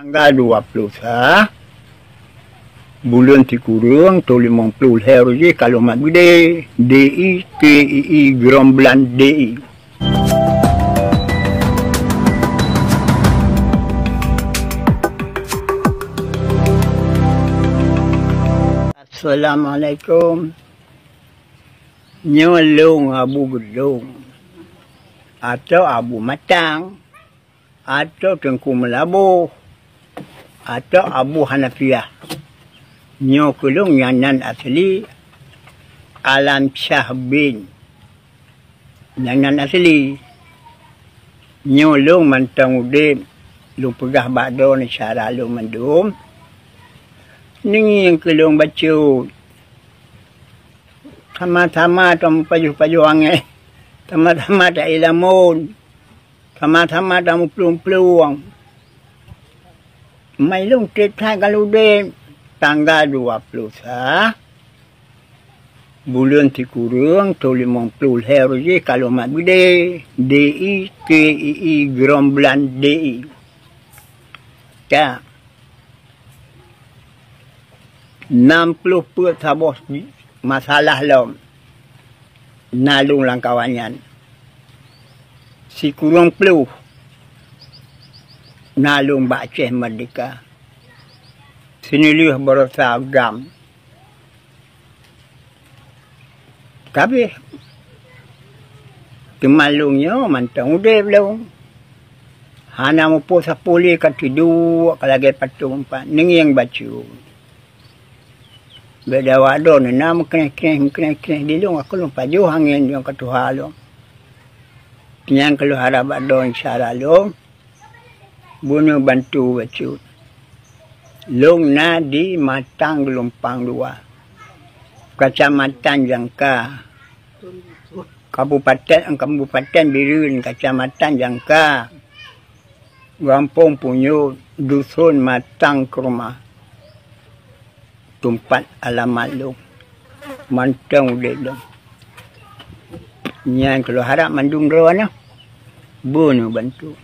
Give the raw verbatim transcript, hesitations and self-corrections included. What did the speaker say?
Tanggal dua ploh sa buleuen sikureueng, thôn limong ploh lhèe uroe jih ka lôn mat beudé, D I K I I, Gromblan D I. Assalamualaikum. Nyoe lôn Abu Geudong, atau Abu Matang, atau Teungku Meulaboh, atau Abu Hanafiah. Nyoe keu lôn nyang nan asli Alam Syah bin. Nyang nan asli. Nyoe lôn mantong udép, lôn peugah bak droeneuh syedara lôn mandum. Ngieng keu lôn bacut. Sama-sama tameupajoh-pajoh angèn, sama-sama taék lamon, sama-sama tameuplueng-plueng. Mai lôn trép that ka lôn udép. Tanggal dua ploh sa buleuen sikureueng, thôn limong ploh lhèe uroe jih ka lôn mat beudé, D I K I I, Gromblan D I. Ka. Nam ploh peuet saboh masalah lom na lôn lam kawan nyan. Sikureueng ploh na lôn bak Aceh Merdeka. Sineulheueh baroesa GAM. Ka abéh. Teuma lôn nyoe mantong udép lôn. Hana muphom sapeue lé, ka tiduek ka lagèe patong pat, neungieng bacut. Bèk dawat droeneuh na meukreh-kreh, meukreh-kreh di lôn, ka lôn pajoh angèn nyoe ka tuha lôn. Nyan ka lôn harap bak droeneuh syedara lôn. Bunoe bantu bacut. Lôn na di Matang Geulumpang Dua, Kecamatan Jangka, Kabupaten, Kabupaten Bireuen, Kecamatan Jangka, Gampông Punyuet, Dusun Matang Keurumah. Teumpat alamat lôn, mantong udép lôn. Nyan ka lôn harap mandum droeneuh bunoe bantu.